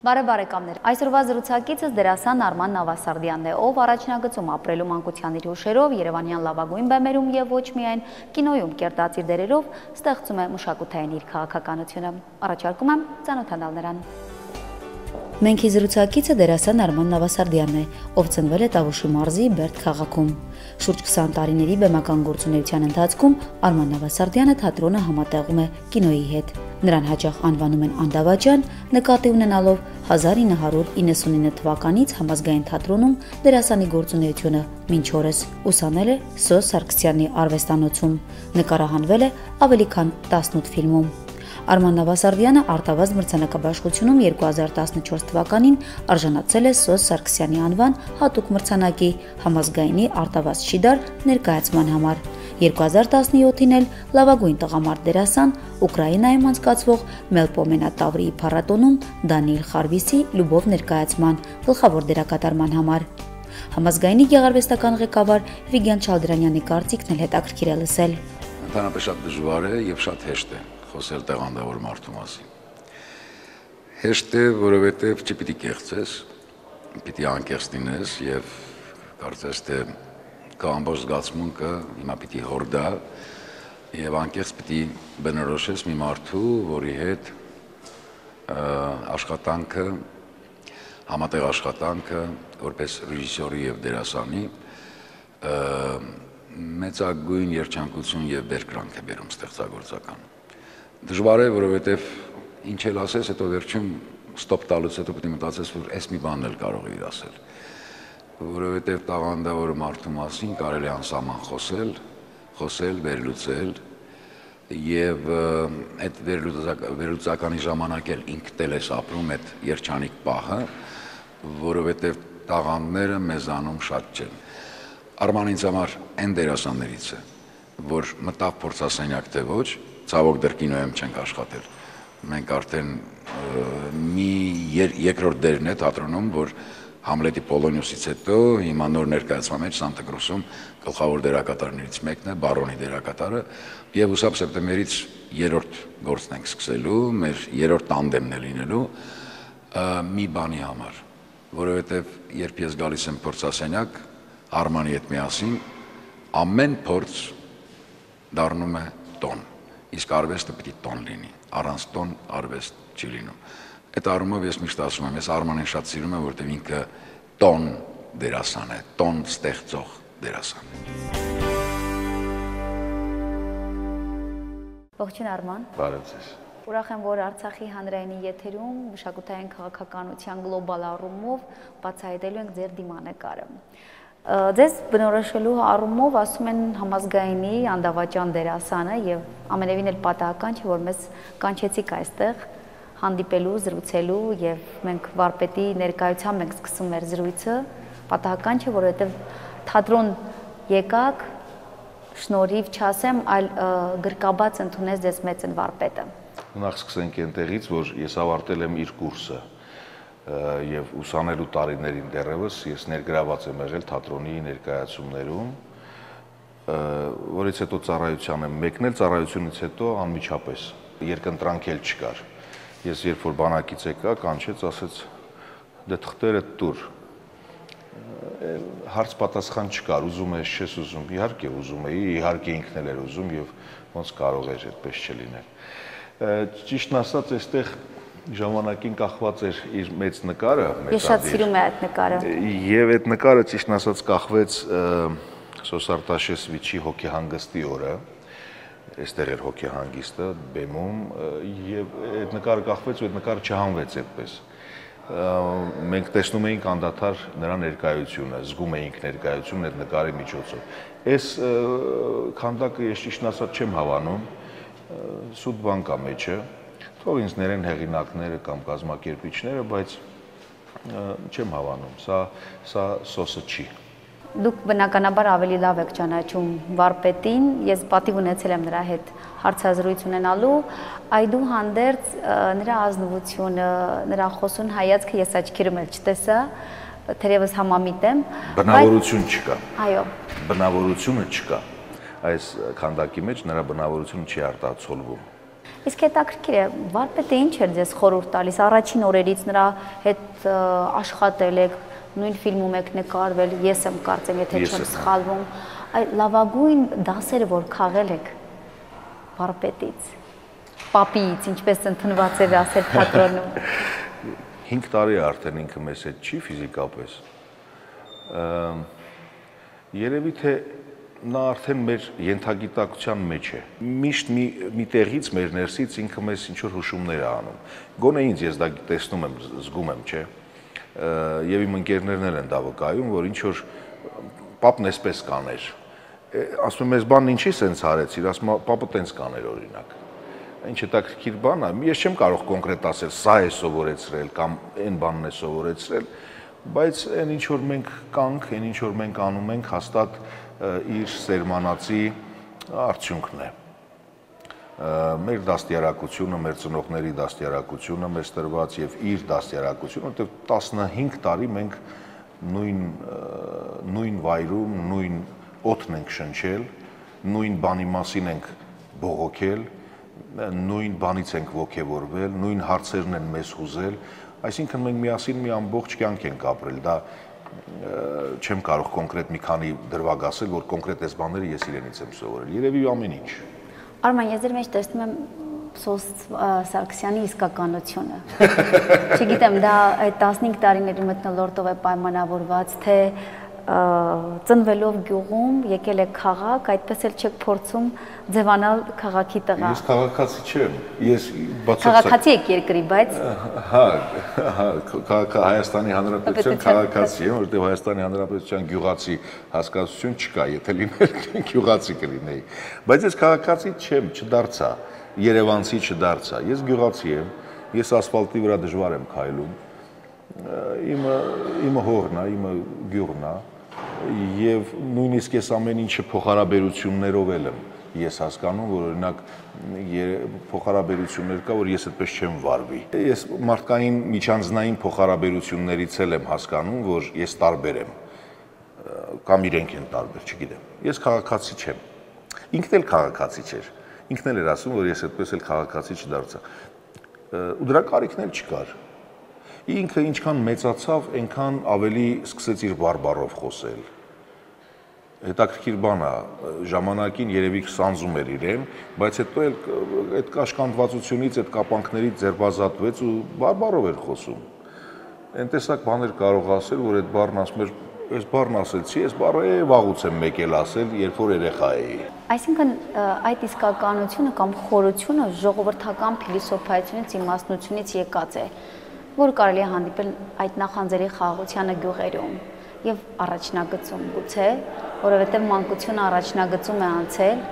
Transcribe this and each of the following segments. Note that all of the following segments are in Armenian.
Բարև բարեկամներ, այսօրվա զրուցակիցս դերասան Արման Նավասարդյանն է, ով առաջնագծում ապրելու մանկության իր հուշերով, երևանյան լավագույն բեմերում եւ ոչ միայն կինոյում կերտած իր դերերով ստեղծում է մշակութային իր քաղաքականությունը։ Առաջարկում եմ ծանոթանալ նրան։ Մենք զրուցակիցը դերասան Արման Նավասարդյանն է, ով ծնվել է Տավուշի մարզի Բերդ քաղաքում։ Շուրջ 20 տարիների բեմական գործունեության ընթացքում Արման Նավասարդյանը թատրոնը համատեղում է կինոյի հետ։ Նրան հաճախ անվանում են Անդավաճան, նկատի ունենալով 1999 թվականից համազգային թատրոնում դերասանի գործունեությունը մինչ օրս ուսանել է Սոս Սարգսյանի արվեստանոցում, նկարահանվել է ավելի քան 18 ֆիլմում։ Արման Նավասարդյանը արտավազդ մրցանակաբաշխությունում 2014 թվականին արժանացել է Սոս Սարգսյանի անվան հատուկ մրցանակի համազգայինի արտավազդ շիդար ներկայացման համար։ 2017-ին էլ լավագույն տղամարդ դերասան Ուկրաինայում անցկացվող Մելպոմենա Տավրիի փառատոնում Դանիիլ Խարվիսի Լյուբով ներկայացման գլխավոր դերակատարման համար։ Համազգայինի գեղարվեստական ղեկավար Վիգեն Չալդրանյանի կարծիքն էլ հետաքրքիր է լսել։ Ընդհանրապես շատ դժվար է եւ շատ հեշտ է խոսել տաղանդավոր մարդու մասին։ Հեշտ է, որովհետև չպիտի կեղծես, պիտի անկեղծ լինես եւ կարծես թե քո ամբողջ զգացմունքը հիմա պիտի հորդա եւ անկեղծ պիտի բնորոշես մի մարդու, որի հետ աշխատանքը, համատեղ աշխատանքը որպես ռեժիսորի եւ դերասանի մեծագույն երջանկություն եւ բերկրանք է բերում ստեղծագործական։ Դժվար է, որովհետև ինչ էլ ասես, հետո վերջում ստոպ տալուց հետո պետք է մտածես, որ այս մի բանն էլ կարող է ասել։ Որովհետև տաղանդավոր մարդու մասին կարելի է անսահման խոսել, վերլուծել եւ այդ վերլուծականի ժամանակ էլ ինքդ էլ ես ապրում այդ երջանիկ պահը, որովհետև տաղանդները մեզանում շատ չեն։ Արման ինձ համար այն դերասաններից է, որ մտավ փորձասենյակ թե ոչ, ցավոք դեռ կինոյում չենք աշխատել։ Մենք արդեն մի երկրորդ դերն է թատրոնում, որ Համլետի Պոլոնիոսից հետո հիմա նոր ներկայացման մեջ Սանտա-Կրուսում գլխավոր դերակատարներից մեկն է, Բարոնի դերակատարը, եւ հուսամ սեպտեմբերից երրորդ գործն ենք սկսելու, մեր երրորդ տանդեմն է լինելու մի բանի համար, որովհետեւ երբ ես գալիս եմ փորձասենյակ Արմանի հետ միասին, ամեն փորձ դառնում է տոն, իսկ արվեստը պիտի տոն լինի, առանց տոն արվեստ չի լինում։ Այդ առումով ես միշտ ասում եմ, ես Արմանին շատ սիրում եմ, որովհետև ինքը տոն դերասան է, տոն ստեղծող դերասան։ Ողջույն Արման։ Բարև ձեզ։ Ուրախ եմ, որ Արցախի հանրայինի եթերում մշակութային քաղաքականության գլոբալ առումով բացահայտելու ենք ձեր դիմանկարը։ Ձեզ բնորոշելու առումով ասում են համազգայինի Անդավաճան դերասանը եւ ամենևին էլ պատահական չէ, որ մեզ կանչեցիք այստեղ հանդիպելու, զրուցելու եւ մենք վարպետի ներկայությամբ ենք սկսում մեր զրույցը, պատահական չէ, որովհետեւ թատրոն եկաք, շնորհիվ չասեմ, այլ գրկաբաց ընդունեց ձեզ մեծն վարպետը։ Նախ սկսենք այնտեղից, որ ես ավարտել եմ իր կուրսը եւ ուսանելու տարիներին դեռևս ես ներգրաված եմ եղել թատրոնի ներկայացումներում, որից հետո ծառայության եմ մեկնել, ծառայությունից հետո անմիջապես երկընտրանք էլ չկար։ Ես երբ որ բանակից եկա, կանչեց, ասեց դե թղթերը տուր։ Հարց պատասխան չկար, ուզում ես, չես ուզում, իհարկե ուզում էի, իհարկե ինքն էլ էր ուզում եւ ոնց կարող էր այդպես չլինել։ Ճիշտն ասած, այստեղ ժամանակին կախված էր իր մեծ նկարը, Ես շատ սիրում եմ այդ նկարը։ Եվ այդ նկարը ճիշտն ասած կախվեց Սոս Արտաշեսվիչի հոգեհանգստի օրը, այստեղ էր հոգեհանգիստը բեմում եւ այդ նկարը կախվեց ու այդ նկարը չհանվեց այդպես։ Մենք տեսնում էինք անդադար նրա ներկայությունը, զգում էինք ներկայությունն այդ նկարի միջոցով։ Այս քանդակը ես ճիշտն ասած չեմ հավանում, սուտ բան կա մեջը, թող ինձ ներեն հեղինակները կամ կազմակերպիչները, բայց չեմ հավանում, սա սոսը չի։ Դուք բնականաբար ավելի լավ եք ճանաչում վարպետին, ես պատիվ ունեցել եմ նրա հետ հարցազրույց ունենալու, այդուհանդերձ նրա ազնվությունը, նրա խոսուն հայացքը ես աչքերում էլ չտեսա, թերևս համամիտ եմ։ Բնավորություն չկա։ Այո։ Բնավորությունը չկա։ Այս քանդակի մեջ նրա բնավորությունը չի արտացոլվում։ Իսկ հետաքրքիր է, վարպետը ինչ էր ձեզ խորհուրդ տալիս առաջին օրերից նրա հետ աշխատել եք, նույն ֆիլմում եք նկարվել, ես եմ կարծեմ, եթե չեմ սխալվում, այդ լավագույն դասերը, որ քաղել եք վարպետից, պապիից, ինչպես ընդունված էր ասել թատրոնում։ 5 տարի արդեն ինքը մեզ հետ չի ֆիզիկապես։ Երևի թե նա արդեն մեր ենթագիտակցության մեջ է։ Միշտ մի տեղից մեր ներսից ինքը մեզ ինչ որ հուշումներ է անում։ Գոնե ինձ ես դա տեսնում եմ, զգում եմ, չէ։ Եվ իմ ընկերներն էլ են դա վկայում, որ ինչ որ պապն էսպես կաներ։ Ասում եմ, այս բանն ինչի սենց արեցիր, ասում եմ, պապը տենց կաներ օրինակ։ Ինչ հետաքրքիր բան է, ես չեմ կարող կոնկրետ ասել, սա է սովորեցրել կամ այն բանն է սովորեցրել, բայց այն ինչ որ մենք կանք, այն ինչ որ մենք անում ենք, հաստատ իր սերմանացի արդյունքն է։ Մեր դաստիարակությունը, մեր ծնողների դաստիարակությունը մեզ տրված եւ իր դաստիարակությունը, որտեղ 15 տարի մենք նույն վայրում, նույն օդն ենք շնչել, նույն բանի մասին ենք բողոքել, նույն բանից ենք ոգևորվել, նույն հարցերն են մեզ հուզել, այսինքն մենք միասին մի ամբողջ կյանք ենք ապրել, դա չեմ կարող կոնկրետ մի քանի դրվագ ասել, որ կոնկրետ այս բաները ես իրենից եմ սովորել, երևի ամեն ինչ։ Արման, ես ձեր մեջ տեսնում եմ Սոստ Սարգսյանի իսկականությունը։ Չգիտեմ, դա այդ 15 տարիների մթնոլորտով է պայմանավորված, թե ծնվելով գյուղում եկել եք քաղաք, այդպես էլ չեք փորձում ձևանալ քաղաքի տղա։ Ես քաղաքացի չեմ, ես քաղաքացի եք երկրի, բայց հա, Հայաստանի Հանրապետության քաղաքացի եմ, որտեղ Հայաստանի Հանրապետության գյուղացի հասկացություն չկա, եթե լիներ գյուղացի կլինեի, բայց ես քաղաքացի չեմ, չդարձա, երևանցի չդարձա, ես գյուղացի եմ, ես ասֆալտի վրա դժվար եմ քայլում, իմը հողն է, իմը գյուղն է, եւ նույնիսկ ես ամեն ինչը փոխհարաբերություններով եմ ես հասկանում, որ օրինակ փոխհարաբերություններ կա, որ ես այդպես չեմ վարվի։ Ես մարդկային միջանձնային փոխհարաբերություններից եմ հասկանում, որ ես տարբեր եմ, կամ իրենք են տարբեր, չգիտեմ։ Ես քաղաքացի չեմ։ Ինքն էլ քաղաքացի չէր։ Ինքն էլ էր ասում, որ ես այդպես էլ քաղաքացի չդարձա։ Ու դրա կարիքն էլ չկար։ Ինքը ինչքան մեծացավ, այնքան ավելի սկսեց իր բարբառով խոսել։ Հետաքրքիր բան է, ժամանակին երևի սանձում էր իրեն, բայց հետո էլ այդ կաշկանդվածությունից, այդ կապանքներից ձերբազատվեց ու բարբառով էր խոսում։ Այն տեսակ բաներ կարող ասել, որ այդ բառն ասում էր, այս բառն ասեցի, այս բառը վաղուց եմ եկել ասել, երբ որ երեխա էի։ Այսինքն այդ իսկականությունը կամ խորությունը ժողովրդական փիլիսոփայությունից, իմաստնությունից եկած է, որ կարելի է հանդիպել այդ նախանձերի խաղաղությանը գյուղերում եւ առաջնագծում գուցե, որովհետեւ մանկությունը առաջնագծում է անցել։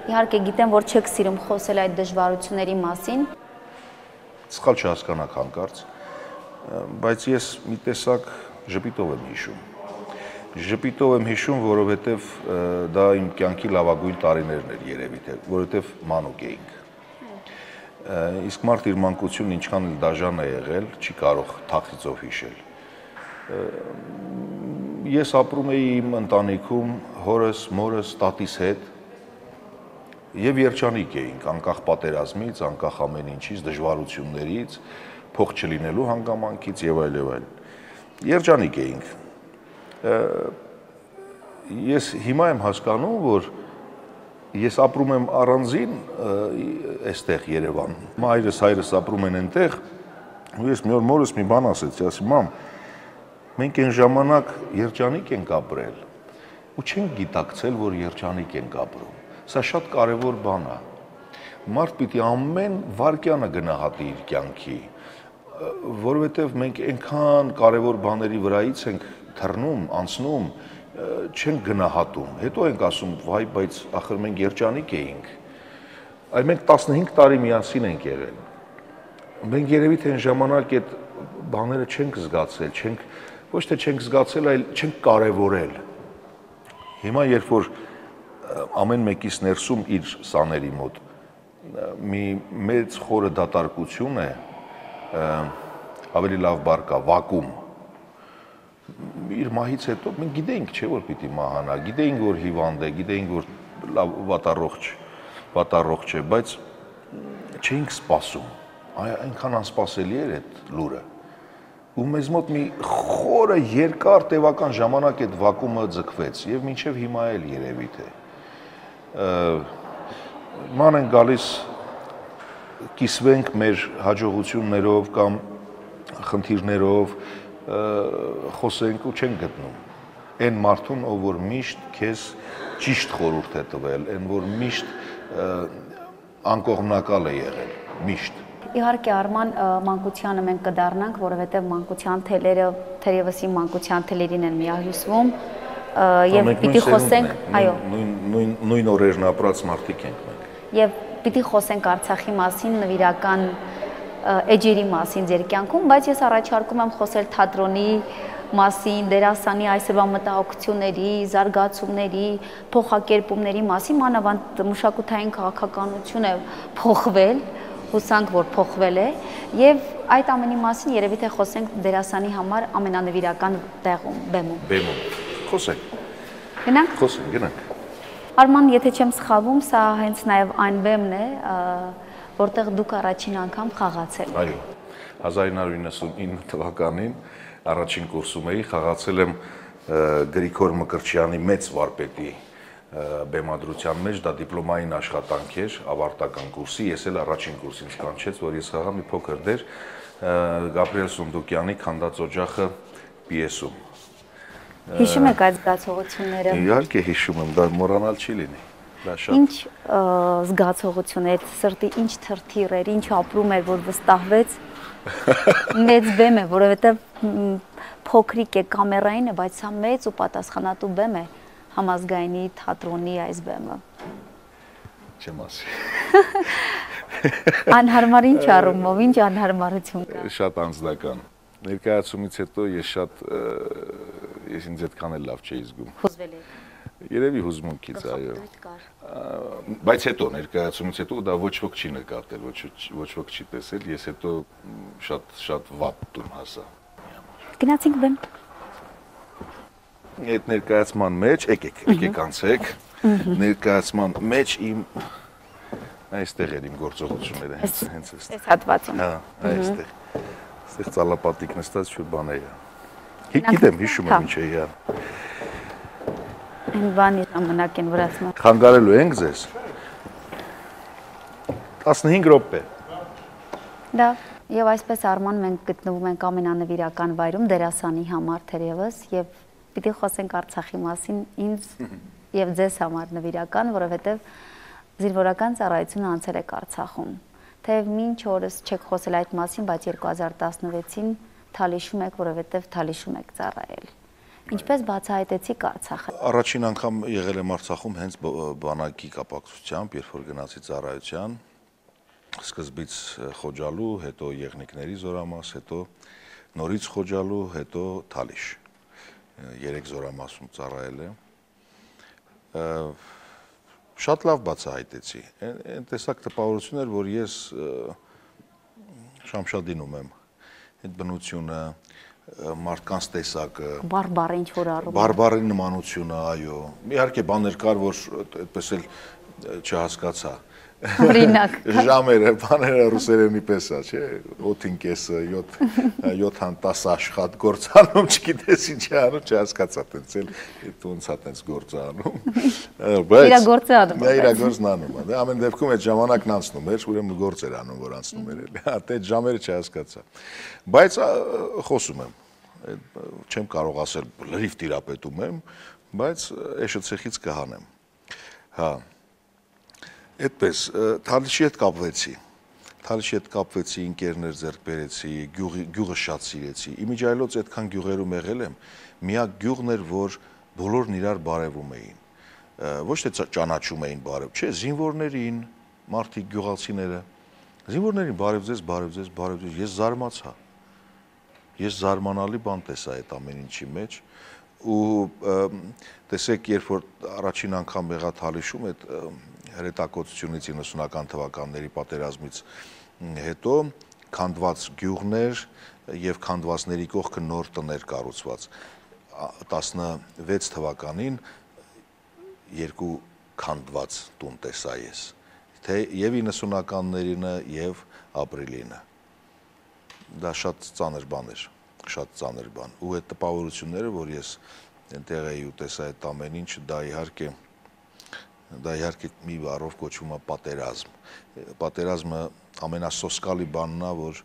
Իհարկե գիտեմ, որ չեք սիրում խոսել այդ դժվարությունների մասին։ Սխալ չհասկանաք հանկարծ, բայց ես մի տեսակ ժպիտով եմ հիշում։ Ժպիտով եմ հիշում, որովհետեւ դա իմ կյանքի լավագույն տարիներն էր երևի թե, որովհետեւ մանուկ էինք։ Իսկ մարդ իր մանկությունն ինչքան էլ դաժան է եղել, չի կարող թախիծով հիշել։ Ես ապրում էի իմ ընտանիքում հորս, մորս, տատիս հետ եւ երջանիկ էինք, անկախ պատերազմից, անկախ ամեն ինչից, դժվարություններից, փող չլինելու հանգամանքից եւ այլ եւ այլ։ Երջանիկ էինք։ Ես հիմա եմ հասկանում, որ ես ապրում եմ առանձին այստեղ Երևանում։ Մայրս, հայրս ապրում են այնտեղ, ու ես մի օր մորս մի բան ասեցի, ասի՝ մամ, մենք այն ժամանակ երջանիկ ենք ապրել, ու չենք գիտակցել, որ երջանիկ ենք ապրում։ Սա շատ կարևոր բան է։ Մարդ պիտի ամեն վայրկյանը գնահատի իր կյանքի, որովհետև մենք այնքան կարևոր բաների վրայից ենք թռնում, անցնում, չենք գնահատում, հետո ենք ասում, վայ, բայց ախր մենք երջանիկ էինք, այլ մենք 15 տարի միասին ենք եղել, մենք երևի թե այն ժամանակ այդ բաները չենք զգացել, ոչ թե չենք զգացել, այլ չենք կարևորել, հիմա երբ որ ամեն մեկից ներսում իր սաների մոտ մի մեծ խորը դատարկություն է, ավելի լավ բառ կա, վակուում, իր մահից հետո մենք գիտեինք, չէ, որ պիտի մահանա, գիտեինք, որ հիվանդ է, գիտեինք, որ վատառողջ է, բայց չէինք սպասում, այնքան անսպասելի էր այդ լուրը, ու մեզ մոտ մի խորը երկար տևական ժամանակ այդ վակումը ձգվեց եւ մինչեւ հիմա էլ երևի թե ման են գալիս կիսվենք մեր հաջողություններով կամ խնդիրներով խոսենք ու չենք գտնում այն մարդուն, ով որ միշտ քեզ ճիշտ խորհուրդ է տվել, այն որ միշտ անկողմնակալ է եղել, միշտ Իհարկե Արման մանկությանը մենք կդառնանք, որովհետև մանկության թելերը թերևս իմ մանկության թելերին են միահյուսվում եւ պիտի խոսենք, այո, նույն օրերն ապրած մարդիկ ենք մենք։ Եվ պիտի խոսենք Արցախի մասին, նվիրական էջերի մասին ձեր կյանքում, բայց ես առաջարկում եմ խոսել թատրոնի մասին, դերասանի այսօրվա մտահոգությունների, զարգացումների, փոխակերպումների մասին, մանավանդ մշակութային քաղաքականություն է փոխվել, հուսանք, որ փոխվել է, եւ այդ ամենի մասին երևի թե խոսենք դերասանի համար ամենանվիրական տեղում, բեմում։ Խոսենք։ Գնանք։ Խոսենք, գնանք։ Արման, եթե չեմ սխալվում, սա հենց նաեւ այն բեմն է, որտեղ դուք առաջին անգամ խաղացել։ Այո։ 1999 թվականին առաջին կուրսում էի, խաղացել եմ Գրիգոր Մկրտչյանի մեծ վարպետի բեմադրության մեջ, դա դիպլոմային աշխատանք էր, ավարտական կուրսի, ես էլ առաջին կուրսից կանչեց, որ ես խաղամ մի փոքր դեր Գաբրիել Սունդուկյանի «Քանդած օջախը» պիեսում։ Հիշում եք այդ զգացողությունները։ Իհարկե հիշում եմ, դա մոռանալ չի լինի։ Ինչ զգացողություն էր, սրտի ինչ թրթիռ էր, ինչ ապրում էր, որ վստահվեց։ Մեծ բեմ է, որովհետև փոքրիկ է, կամերային է, բայց սա մեծ ու պատասխանատու բեմ է համազգայինի թատրոնի այս բեմը։ Չեմ ասի։ Անհարմար ինչ առումով, ինչ անհարմարություն կա։ Շատ անձնական։ Ներկայացումից հետո ես ինձ այդքան էլ լավ չէի զգում։ Հուզվել եք։ Երևի հուզմունքից, այո։ Բայց հետո ներկայացումից հետո դա ոչ ոք չի նկատել, ոչ ոք չի տեսել, ես հետո շատ վատ տուն հասա։ Գնացինք բեմ։ Այդ ներկայացման մեջ, եկեք անցեք, ներկայացման մեջ իմ այստեղ էր իմ գործողությունները, հենց այս հատվածում։ Հա, այստեղ։ Այստեղ ծալապատիկ նստած շուտ բան է։ Գիտեմ, հիշում եմ ինչ է իա։ Այն բանի ժամանակ են վրացման։ Խանգարելու ենք ձեզ։ 15 րոպե։ Դա եւ այսպես Արման մենք գտնվում ենք ամենանվիրական վայրում դերասանի համար թերևս եւ պիտի խոսենք Արցախի մասին ինձ եւ ձեզ համար նվիրական, որովհետեւ զինվորական ծառայությունը անցել եք Արցախում։ Թեև մինչ օրս չեք խոսել այդ մասին, բայց 2016-ին Թալիշում եք, որովհետեւ Թալիշում եք ծառայել։ Ինչպես բացահայտեցիք Արցախը։ Առաջին անգամ եղել եմ Արցախում հենց բանակի կապակցությամբ, երբ որ գնացի ծառայության, սկզբից Խոջալու, հետո Եղնիկների զորամաս, հետո նորից Խոջալու, հետո Թալիշ։ 3 զորամասում ծառայել եմ։ Շատ լավ բացահայտեցի։ Այն տեսակ տպավորություն էր, որ ես Շամշադինում եմ։ Այդ բնությունը, մարդկանց տեսակը, բարբար ինչ որ առում։ Բարբարի նմանությունը, այո։ Իհարկե բաներ կար, որ այդպես էլ չհասկացա։ Օրինակ։ Ժամերը, բաները ռուսերենի պես է, չէ՞, 8-ը, 7-ան 10 աշխատանք գործանում, չգիտես ինչ է անում, չհասկացա, տենց էլ ոնց է տենց գործանում։ Բայց իր գործը անում։ Իր գործն անում է։ Ամեն դեպքում այդ ժամանակն անցնում էր, ուրեմն գործ էր անում, որ անցնում էր էլի։ Այդ ժամերը չհասկացա։ Բայց խոսում եմ, չեմ կարող ասել լրիվ տիրապետում եմ, բայց էշը ցեխից կհանեմ։ Հա։ Այդպես, Թալիշի հետ կապվեցի, ընկերներ ձեռք բերեցի, գյուղը շատ սիրեցի։ Իմիջայլոց այդքան գյուղերում եղել եմ, միակ գյուղն էր, որ բոլորն իրար բարևում էին։ Ոչ թե ճանաչում էին բարև, չէ, զինվորներին, մարդիկ գյուղացիները, զինվորներին բարև ձեզ, ես զարմացա։ Ես զարմանալի բան տեսա այդ ամեն ինչի մեջ ու տեսեք, երբ որ առաջին անգամ եղա Թալիշում, այդ հրետակոծությունից 90-ական թվականների պատերազմից հետո քանդված գյուղներ եւ քանդվածների կողքը նոր տներ կառուցված 16 թվականին երկու քանդված տուն տեսա ես թե եւ 90-ականներինը եւ ապրիլինը։ Դա շատ ծանր բան էր, շատ ծանր բան։ Ու այդ տպավորությունները, որ ես այնտեղ էի ու տեսա այդ ամեն ինչ, դա իհարկե մի բառով կոչվում է պատերազմ։ Պատերազմը ամենասոսկալի բանն է, որ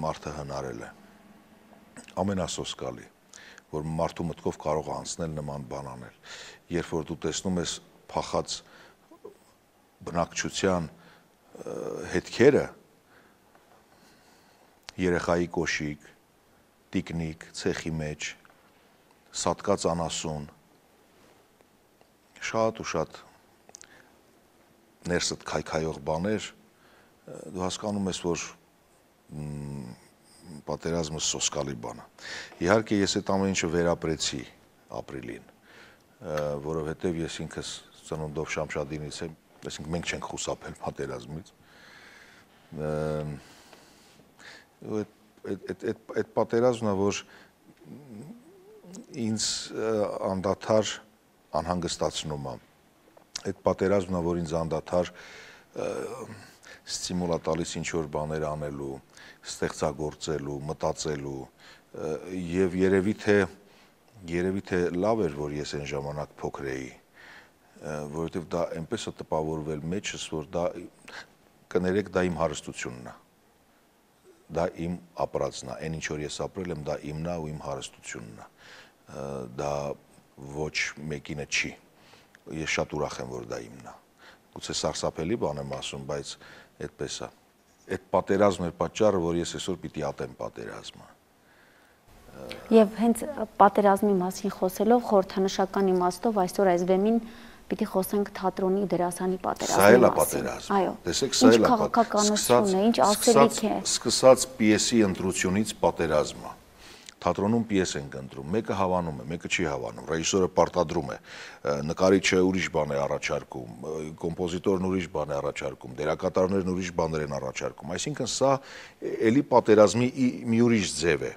մարդը հնարել է։ Ամենասոսկալի, որ մարդու մտքով կարող է անցնել նման բան անել։ Երբ որ դու տեսնում ես փախած բնակչության հետքերը, երեխայի կոշիկ, տիկնիկ, ցեխի մեջ, սատկած անասուն, շատ ու շատ ներսդ քայքայող բաներ, դու հասկանում ես, որ պատերազմը սոսկալի բան է։ Իհարկե ես այդ ամեն ինչը վերապրեցի ապրիլին, որովհետև ես ինքս ծնունդով Շամշադինից եմ, այսինքն մենք չենք խուսափել պատերազմից։ Այդ պատերազմն է, որ ինձ անդադար անհանգստացնում է։ Այդ պատերազմն է, որ ինձ անդադար ստիմուլ է տալիս ինչ-որ բաներ անելու, ստեղծագործելու, մտածելու, եւ երևի թե լավ էր, որ ես այն ժամանակ փոքր էի, որովհետեւ դա այնպես է տպավորվել մեջս, որ դա կներեք, դա իմ հարստությունն է։ Դա իմ ապրածն է, այն ինչ որ ես ապրել եմ, դա իմն է ու իմ հարստությունն է։ Դա ոչ մեկինը չի։ Ես շատ ուրախ եմ, որ դա իմն է։ Գուցե սարսափելի բան եմ ասում, բայց այդպես է։ Այդ պատերազմն էր պատճառը, որ ես այսօր պիտի ատեմ պատերազմը։ Եվ հենց պատերազմի մասին խոսելով, խորհրդանշական իմաստով այսօր այս բեմին պիտի խոսենք թատրոնի դերասանի պատերազմի մասին։ Այո, տեսեք, սա էլ է քաղաքականություն է, ինչ ասելիք է։ Սկսած պիեսի ընտրությունից պատերազմը։ Թատրոնում պիես ենք ընտրում, մեկը հավանում է, մեկը չի հավանում, ռեժիսորը պարտադրում է, նկարիչը ուրիշ բան է առաջարկում, կոմպոզիտորն ուրիշ բան է առաջարկում, դերակատարներն ուրիշ բաներ են առաջարկում, այսինքն սա էլի պատերազմի մի ուրիշ ձև է։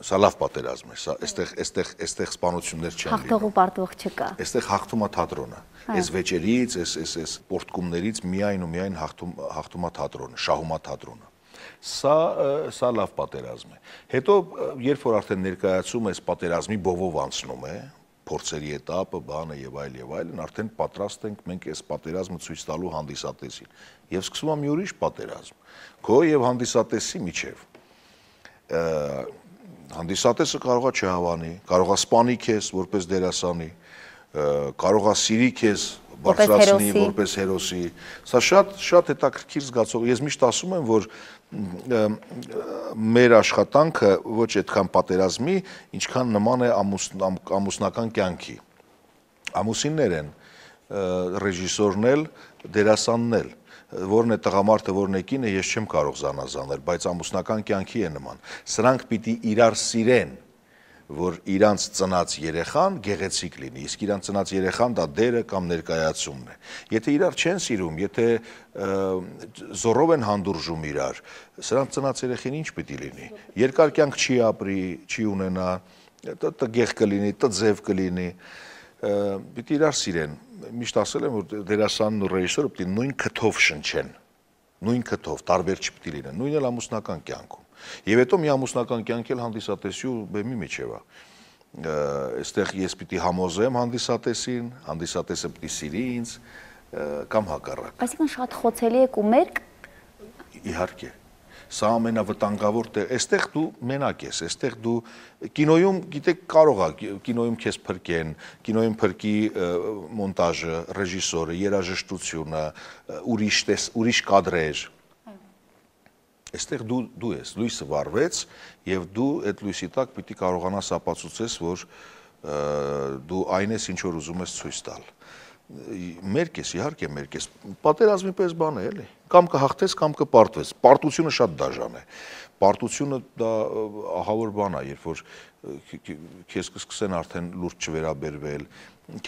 Սա լավ պատերազմ է, սա այստեղ սպանություններ չեն լինում։ Հաղթող ու պարտվող չկա։ Այստեղ հաղթում է թատրոնը։ Այս վեճերից, այս պորտկումներից միայն ու միայն հաղթում է թատրոնը, շահում է թատրոնը։ Սա լավ պատերազմ է։ Հետո երբ որ արդեն ներկայացում այս պատերազմի բովով անցնում է, փորձերի էտապը, բանը եւ այլն, արդեն պատրաստ ենք մենք այս պատերազմը ցույց տալու հանդիսատեսին։ Եվ սկսվում է մի ուրիշ պատերազմ։ Քո եւ հանդիսատեսի միջև։ Հանդիսատեսը կարող է չհավանի, կարող է սպանի քեզ որպես դերասանի, կարող է սիրի քեզ բարձրացնի որպես հերոսի։ Սա շատ հետաքրքիր զգացող։ Ես միշտ ասում եմ, որ մեր աշխատանքը ոչ այդքան պատերազմի, ինչքան նման է ամուսնական կյանքի։ Ամուսիններ են, ռեժիսորն էլ, դերասանն էլ, որն է տղամարդը, որն է կինը, ես չեմ կարող զանազանել, բայց ամուսնական կյանքի է նման։ Սրանք պիտի իրար սիրեն, որ իրանց ծնած երեխան գեղեցիկ լինի, իսկ իրանց ծնած երեխան դա դերը կամ ներկայացումն է։ Եթե իրար չեն սիրում, եթե զորով են հանդուրժում իրար, սրանց ծնած երեխին ինչ պիտի լինի։ Երկար կյանք չի ապրի, չի ունենա, տգեղ կլինի, տձև կլինի, պիտի իրար սիրեն։ Միշտ ասել եմ, որ դերասանն ու ռեժիսորը պիտի նույն քթով շնչեն, նույն քթով, տարբեր չպիտի լինեն, նույնն էլ ամուսնական կյանքում։ Եվ հետո մի ամուսնական կյանք էլ հանդիսատեսի ու բեմի միջև է։ Այստեղ ես պիտի համոզեմ հանդիսատեսին, հանդիսատեսը պիտի սիրի ինձ կամ հակառակ։ Այսինքն շատ խոցելի եք ու մերկ։ Իհարկե։ Սա ամենավտանգավոր տեղ, այստեղ դու մենակ ես, այստեղ դու կինոյում, գիտեք, կարող է կինոյում քեզ փրկեն, կինոյում փրկի մոնտաժը, ռեժիսորը, երաժշտությունը, ուրիշ կադրեր։ Այստեղ դու ես, լույսը վառվեց եւ դու այդ լույսի տակ պիտի կարողանաս ապացուցես, որ դու այն ես, ինչ որ ուզում ես ցույց տալ։ Մերկ ես, իհարկե մերկ ես, պատերազմի պես բան է, էլի, կամ կհաղթես, կամ կպարտվես, պարտությունը շատ դաժան է, պարտությունը դա ահավոր բան է, երբ որ քեզ կսկսեն արդեն լուրջ չվերաբերվել,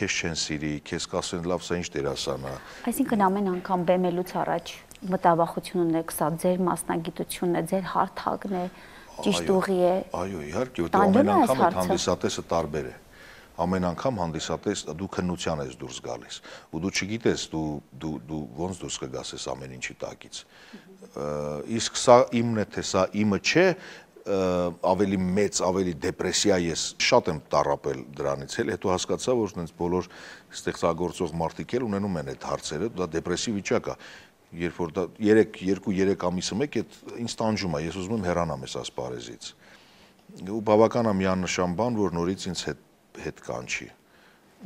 քեզ չեն սիրի, քեզ կասեն լավ, սա ինչ դերասան է։ Այսինքն ամեն անգամ բեմելուց առաջ մտավախություն ունեք, սա ձեր մասնագիտությունն է, ձեր հարթակն է, ճիշտ ուղի է։ Այո, իհարկե, որտեղ ամեն անգամ այդ հանդիսատեսը տարբեր է։ ամեն անգամ հանդիսատես դու քննության ես դուրս գալիս ու դու չգիտես դու ոնց դուրս կգաս այս ամեն ինչի տակից իսկ սա իմն է թե սա իմը չէ ավելի մեծ ավելի դեպրեսիա ես շատ եմ տառապել դրանից էլ հետո հասկացա որ այնց բոլոր ստեղծագործող մարդիկ էլ ունենում են այդ հարցերը դա դեպրեսիվ վիճակ է երբ որ դա 2-3 ամիսը մեկ այդ ինձ տանջում է ես ուզում եմ հեռանամ այս ասպարեզից ու բավական է միանշան բան որ նորից ինձ հետ կանչի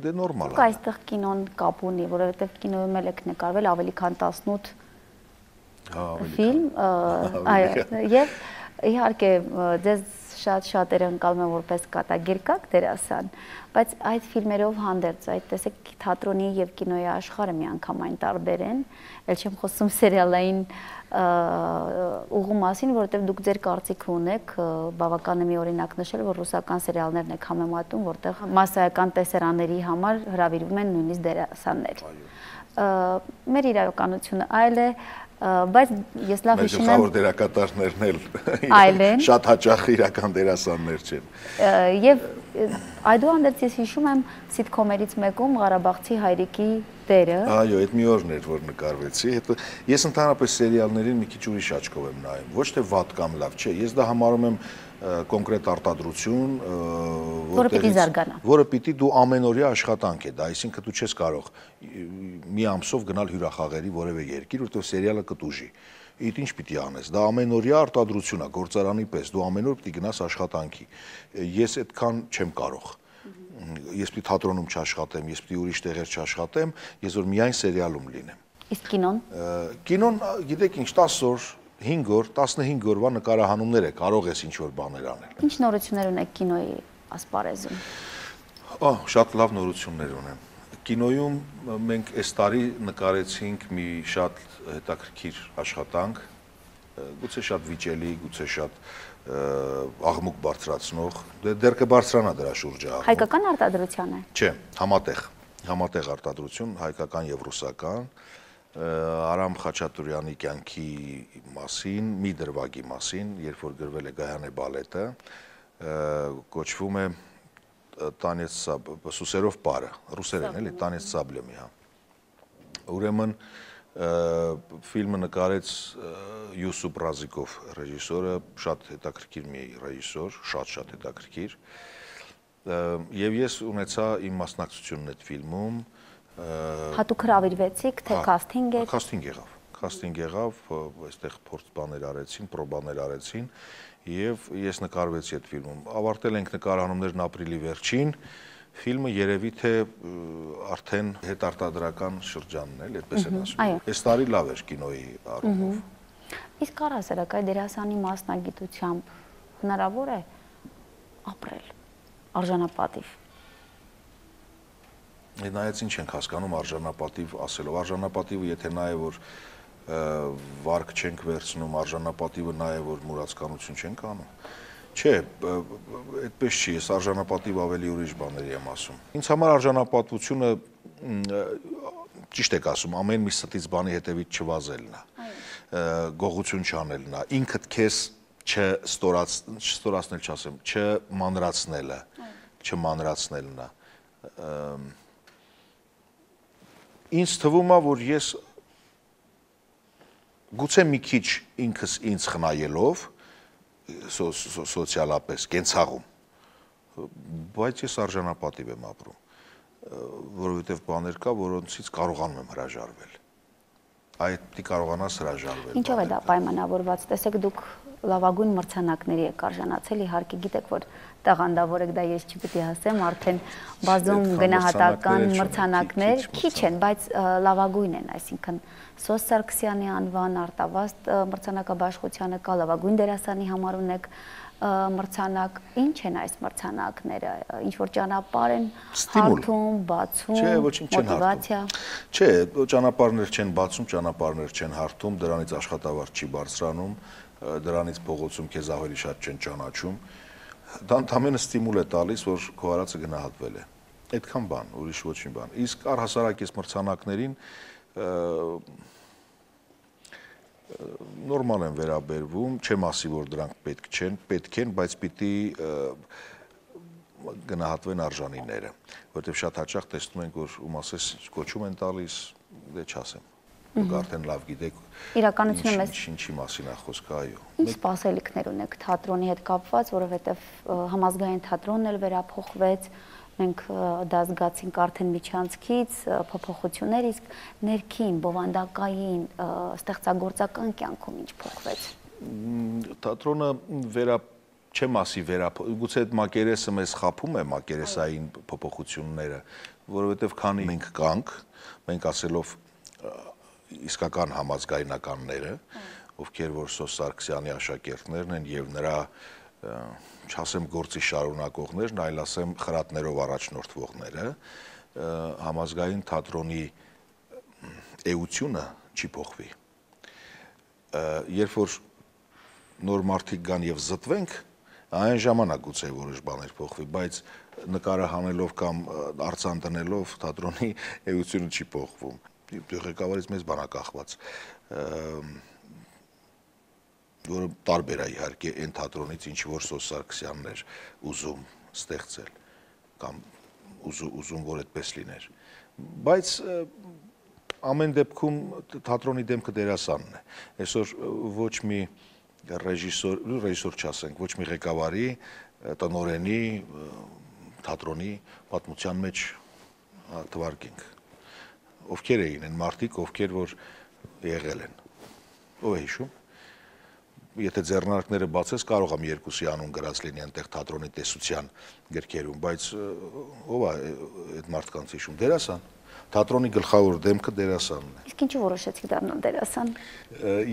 դե նորմալ է այստեղ կինոն կապ ունի որովհետև կինոյում էլ եք նկարվել ավելի քան 18 ֆիլմ այո եւ իհարկե ձեզ շատերը ընկալում են որպես կատակերգակ դերասան, բայց այդ ֆիլմերով հանդերձ այդ տեսեք թատրոնի եւ կինոյի աշխարհը միանգամայն տարբեր են, ել չեմ խոսում սերիալային ուղու մասին, որովհետեւ դուք ձեր կարծիքը ունեք, բավական է մի օրինակ նշել, որ ռուսական սերիալներն եք համեմատում, որտեղ մասսայական տեսարանների համար հրավիրվում են նույնիսկ դերասաններ։ Մեր իրականությունը այլ է բայց ես լավ հիշում եմ գլխավոր դերակատարներն էլ շատ հաճախ իրական դերասաններ չեն եւ այդուհանդերձ ես հիշում եմ սիթքոմերից մեկում Ղարաբաղցի հայրիկի դերը այո այդ մի օրն էր որ նկարվեցի հետո ես ընդհանրապես սերիալներին մի քիչ ուրիշ աչքով եմ նայում ոչ թե վատ կամ լավ չէ ես դա համարում եմ կոնկրետ արտադրություն, որը պիտի դու ամենօրյա աշխատանք է, դա այսինքն դու չես կարող մի ամսով գնալ հյուրախաղերի որևէ երկիր, որտեղ սերիալը կտուժի։ Իդ ինչ պիտի անես, դա ամենօրյա արտադրություն է, գործարանի պես, դու ամեն օր պիտի գնաս աշխատանքի։ Ես այդքան չեմ կարող։ Ես պիտի թատրոնում չաշխատեմ, ես պիտի ուրիշ տեղեր չաշխատեմ, ես որ միայն սերիալում լինեմ։ Իսկ կինոն։ Կինոն, գիտեք ինչ, 10 օր 5 օր, 15 օրվա նկարահանումներ է, կարող ես ինչ-որ բաներ անել։ Ինչ նորություններ ունեք կինոյի ասպարեզում։ Շատ լավ նորություններ ունեմ։ Կինոյում մենք այս տարի նկարեցինք մի շատ հետաքրքիր աշխատանք, գուցե շատ վիճելի, գուցե շատ աղմուկ բարձրացնող, դեռ կբարձրանա դրա շուրջը։ Հայկական արտադրության է։ Չէ, համատեղ արտադրություն, հայկական եւ ռուսական։ Արամ Խաչատուրյանի կյանքի մասին, մի դրվագի մասին, երբ որ գրվել է Գայանե բալետը, կոչվում է Տանեց Սուսերով պարը, ռուսերեն էլի, Տանեց Սաբլեմի, հա։ Ուրեմն ֆիլմը նկարեց Յուսուփ Ռազիկով ռեժիսորը, շատ հետաքրքիր մի ռեժիսոր, շատ հետաքրքիր։ Եւ ես ունեցա իմ մասնակցությունն այդ ֆիլմում Հատուկ հրավիրվեցիք, թե քասթինգ եք։ Քասթինգ եղավ, այստեղ փորձ բաներ արեցին, պրոբաներ արեցին եւ ես նկարվեցի այդ ֆիլմում։ Ավարտել ենք նկարահանումներն ապրիլի վերջին, ֆիլմը երևի թե արդեն հետարտադրական շրջանն է, այդպես են ասում։ Այս տարի լավ էր կինոյի առումով։ Իսկ առհասարակ այդ դերասանի մասնագիտությամբ հնարավոր է ապրել արժանապատիվ։ Նայած ինչ ենք հասկանում արժանապատիվ ասելով, արժանապատիվը եթե նա է, որ վարկ չենք վերցնում, արժանապատիվը նա է, որ մուրացկանություն չենք անում, չէ, այդպես չի, ես արժանապատիվ ավելի ուրիշ բաների եմ ասում։ Ինձ համար արժանապատվությունը, ճիշտ եք ասում, ամեն մի ստից բանի հետևից չվազելն է, գողություն չանելն է, ինքդ քեզ չստորացնել չասեմ, չմանրացնելը, չմանրացնելն է։ Ինձ թվում է, որ ես գուցե մի քիչ ինքս ինձ խնայելով սոցիալապես կենցաղում, բայց ես արժանապատիվ եմ ապրում, որովհետև բաներ կա, որոնցից կարողանում եմ հրաժարվել։ Այդ պիտի կարողանաս հրաժարվել։ Ինչով է դա պայմանավորված։ Տեսեք, դուք լավագույն մրցանակների եք արժանացել, իհարկե գիտեք, որ տաղանդավոր եք, դա ես չպիտի ասեմ, արդեն բազում գնահատական մրցանակներ քիչ են, բայց լավագույն են, այսինքն Սոս Սարգսյանի անվան, Արտավազդ մրցանակաբաշխությանը կա, լավագույն դերասանի համար ունեք մրցանակ, ինչ են այս մրցանակները, ինչ որ ճանապարհ են հարթում, բացում, մոտիվացիա։ Չէ, ճանապարհներ չեն բացում, ճանապարհներ չեն հարթում, դրանից աշխատավարձ չի բարձրանում, դրանից փողոցում քեզ ավելի շատ չեն ճանաչում։ Դա ընդհանրապես ստիմուլ է տալիս, որ քո արածը գնահատվել է։ Այդքան բան, ուրիշ ոչ մի բան։ Իսկ առհասարակ այս մրցանակներին նորմալ են վերաբերվում, չեմ ասի, որ դրանք պետք չեն, պետք են, բայց պիտի գնահատվեն արժանիները, որովհետև շատ հաճախ տեսնում ենք, որ ում ասես կոչում են տալիս, դե չասեմ, դուք արդեն լավ գիտեք իրականությունը մեզ ինչի մասին է խոսքը, այո։ Ինչ սպասելիքներ ունեք թատրոնի հետ կապված, որովհետև համազգային թատրոնն էլ վերափոխվեց, մենք դա զգացինք արդեն միջանցքից, փոփոխություններ, իսկ ներքին, բովանդակային, ստեղծագործական կյանքում ինչ փոխվեց։ Թատրոնը չեմ ասի գուցե այդ մակերեսը մեզ խաբում է մակերեսային փոփոխությունները, որովհետև քանի մենք կանք, մենք ասելով իսկական համազգայնականները, ովքեր որ Սոս Սարգսյանի աշակերտներն են եւ նրա չասեմ գործի շարունակողներն, այլ ասեմ խրատներով առաջնորդվողները, համազգային թատրոնի էությունը չի փոխվի։ Երբ որ նոր մարդիկ գան եւ զտվենք, այն ժամանակ գուցե որոշ բաներ փոխվի, բայց նկարը հանելով կամ արձան դնելով թատրոնի էությունը չի փոխվում։ Ղեկավարից մեզ բան է կախված, որը տարբեր է իհարկե այն թատրոնից, ինչ որ Սոս Սարգսյանն էր ուզում ստեղծել կամ ուզում որ այդպես լիներ, բայց ամեն դեպքում թատրոնի դեմքը դերասանն է։ Այսօր ոչ մի ռեժիսոր չասենք, ոչ մի ղեկավարի, տնօրենի, թատրոնի պատմության մեջ թվարկենք։ Ովքեր էին են մարդիկ, ովքեր որ եղել են։ Ով է հիշում։ Եթե ձեռնարկները բացես, կարող եմ երկուսի անուն գրած լինի այնտեղ թատրոնի տեսության գրքերում, բայց ով է այդ մարդկանց հիշում։ Դերասան։ Թատրոնի գլխավոր դեմքը դերասանն է։ Իսկ ինչու որոշեցիք դառնալ դերասան։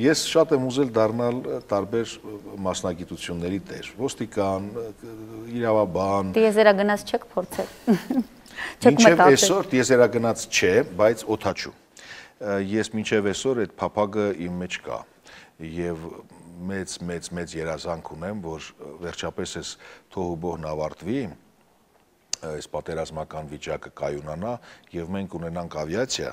Ես շատ եմ ուզել դառնալ տարբեր մասնագիտությունների տեր, ոստիկան, իրավաբան։ Տիեզերագնաց չեք փորձել։ Մինչև այսօր տիեզերագնաց չէ, բայց օդաչու։ Ես մինչև այսօր այդ փափագը իմ մեջ կա եւ մեծ երազանք ունեմ, որ վերջապես այս թոհուբոհն ավարտվի, այս պատերազմական վիճակը կայունանա եւ մենք ունենանք ավիացիա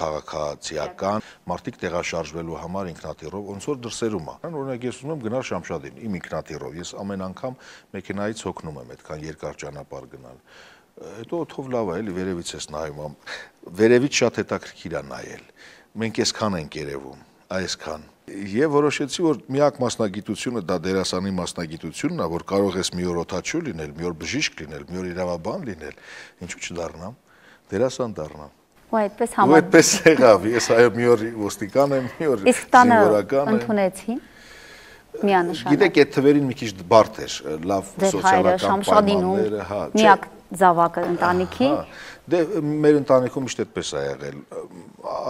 քաղաքացիական մարդիկ տեղաշարժվելու համար ինքնաթիռով, ոնց որ դրսերում է։ Օրինակ ես ուզում եմ գնալ Շամշադին իմ ինքնաթիռով, ես ամեն անգամ մեքենայից հոգնում եմ այդքան երկար ճանապարհ գնալ։ Հետո օդով լավ է, էլի վերևից ես նայում, վերևից շատ հետաքրքիր է նայել։ Մենք այսքան ենք երևում, այսքան։ Եվ որոշեցի, որ միակ մասնագիտությունը դա դերասանի մասնագիտությունն է, որ կարող ես մի օր օդաչու լինել, մի օր բժիշկ լինել, մի օր իրավաբան լինել, ինչու չդառնամ, դերասան դառնամ։ Ու այդպես Ու այդպես եղավ, ես այո մի օր ոստիկան եմ, մի օր զինվորական եմ։ Ընդունեցին միանշանակ։ Գիտեք, այդ թվերին մի քիչ բարդ էր, լավ սոցիալական պայմանները, հա։ Միակ զավակը ընտանիքի։ Դե մեր ընտանիքում միշտ այդպես է եղել,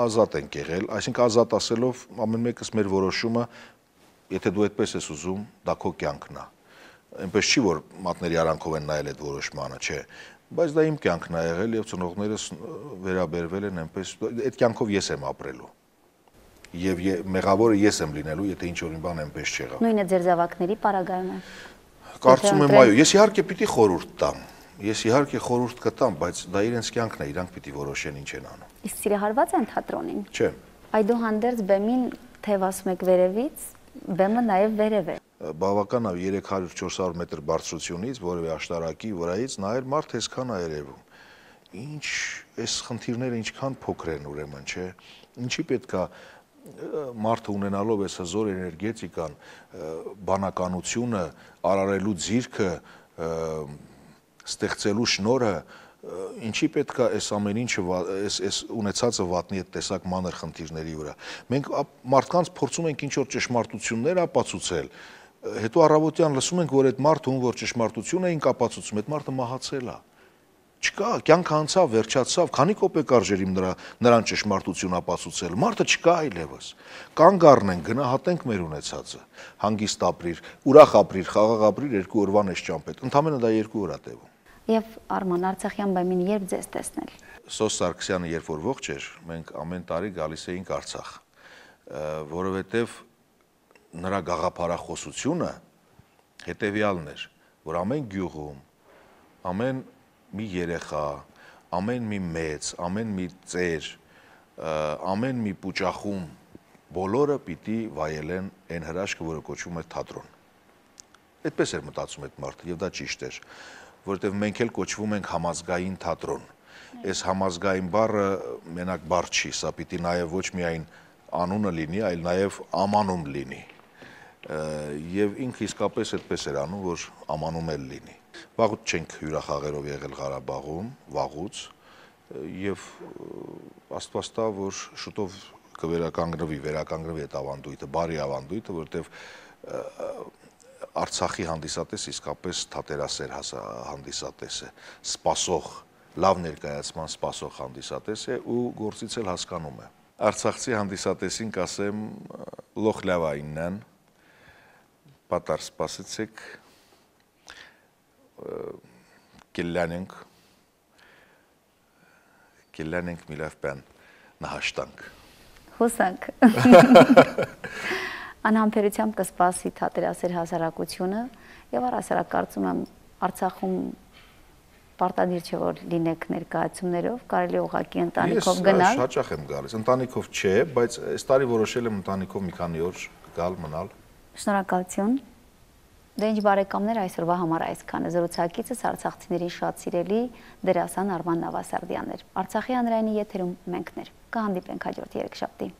ազատ ենք եղել, այսինքն ազատ ասելով ամեն մեկս մեր որոշումը, եթե դու այդպես ես ուզում, դա քո կյանքն է։ Այնպես չի որ մատների արանքով են նայել այդ որոշմանը, չէ, բայց դա իմ կյանքն է եղել եւ ծնողներս վերաբերվել են այնպես, այդ կյանքով ես եմ ապրելու։ Եվ մեղավորը ես եմ լինելու, եթե ինչ որ մի բան այնպես չեղավ։ Նույնը ձեր զավակների պարագայում է։ Կարծում եմ, այո, ես իհարկե պիտի խորհուրդ տամ։ Ես իհարկե խորհուրդ կտամ, բայց դա իրենց կյանքն է, իրանք պիտի որոշեն ինչ են անում։ Իսկ սիրահարված են թատրոնին։ Չէ։ Այդուհանդերձ բեմին թեև ասում եք վերևից, բեմը նաև վերև է։ Բավական է 300-400 մետր բարձրությունից, որևէ աշտարակի վրայից նայել մարդ այսքան է երևում։ Ինչ այս խնդիրները ինչքան փոքր են ուրեմն, չէ։ Ինչի պետք է մարդը ունենալով այս հզոր էներգետիկան, բանականությունը, արարելու ձիրքը, ստեղծելու շնորհը, ինչի պետք է այս ամեն ինչը այս ունեցածը վատնի այդ տեսակ մանր խնդիրների վրա։ Մենք մարդկանց փորձում ենք ինչ որ ճշմարտություններ ապացուցել, հետո առավոտյան լսում ենք, որ այդ մարդը ում որ ճշմարտություն էին ապացուցում, այդ մարդը մահացել է։ Չկա, կյանքը անցավ, վերջացավ, քանի կոպեկ արժեր իմ նրան ճշմարտություն ապացուցել, մարդը չկա այլևս։ Կանգ առնենք, գնահատենք մեր ունեցածը, հանգիստ ապրիր, ուրախ ապրիր, խաղաղ ապրիր 2 օրվան այս ճամփետ, ընդամենը դա 2 օր է տևում։ Եվ Արման Արցախյան բեմին երբ ձեզ տեսնել։ Սոս Սարգսյանը երբ որ ողջ էր, մենք ամեն տարի գալիս էինք Արցախ, որովհետև նրա գաղափարախոսությունը հետևյալն էր, որ ամեն գյուղում, ամեն մի երեխա, ամեն մի մեծ, ամեն մի ծեր, ամեն մի պուճախում բոլորը պիտի վայելեն այն հրաշքը, որը կոչվում է թատրոն։ Այդպես էր մտածում այդ մարդը, եւ դա ճիշտ էր։ որովհետև մենք էլ կոչվում ենք համազգային թատրոն։ Այս համազգային բառը մենակ բառ չի, սա պիտի նաև ոչ միայն անունը լինի, այլ նաև ամանում լինի։ Եվ ինքը իսկապես այդպես էր անում, որ ամանում էլ լինի։ Վաղուց չենք հյուրախաղերով եղել Ղարաբաղում, վաղուց, եւ Աստված տա, որ շուտով վերականգնվի այդ ավանդույթը, բարի ավանդույթը, որովհետև Արցախի հանդիսատես իսկապես թատերասեր հանդիսատես է, սպասող, լավ ներկայացման սպասող հանդիսատես է ու գործից էլ հասկանում է։ Արցախցի հանդիսատեսին կասեմ լոխ լավայինն, պատար սպասեցեք, կելյանենք միլավ բան նահաշտանք։ Հուսանք։ Անհամբերությամբ կսպասի թատերասեր հասարակությունը եւ առհասարակ կարծում եմ Արցախում պարտադիր չէ որ լինեք ներկայացումներով, կարելի ուղղակի ընտանիքով գնալ։ Ես հաճախ եմ գալիս, ընտանիքով չէ, բայց այս տարի որոշել եմ ընտանիքով մի քանի օր գալ, մնալ։ Շնորհակալություն։ Դե ինչ բարեկամներ, այսօրվա համար այսքանը։ Զրուցակիցս արցախցիների շատ սիրելի դերասան Արման Նավասարդյանն էր։ Արցախի հանրայինի եթերում մենքներ։ Կհանդիպենք հաջորդ երեքշաբթի։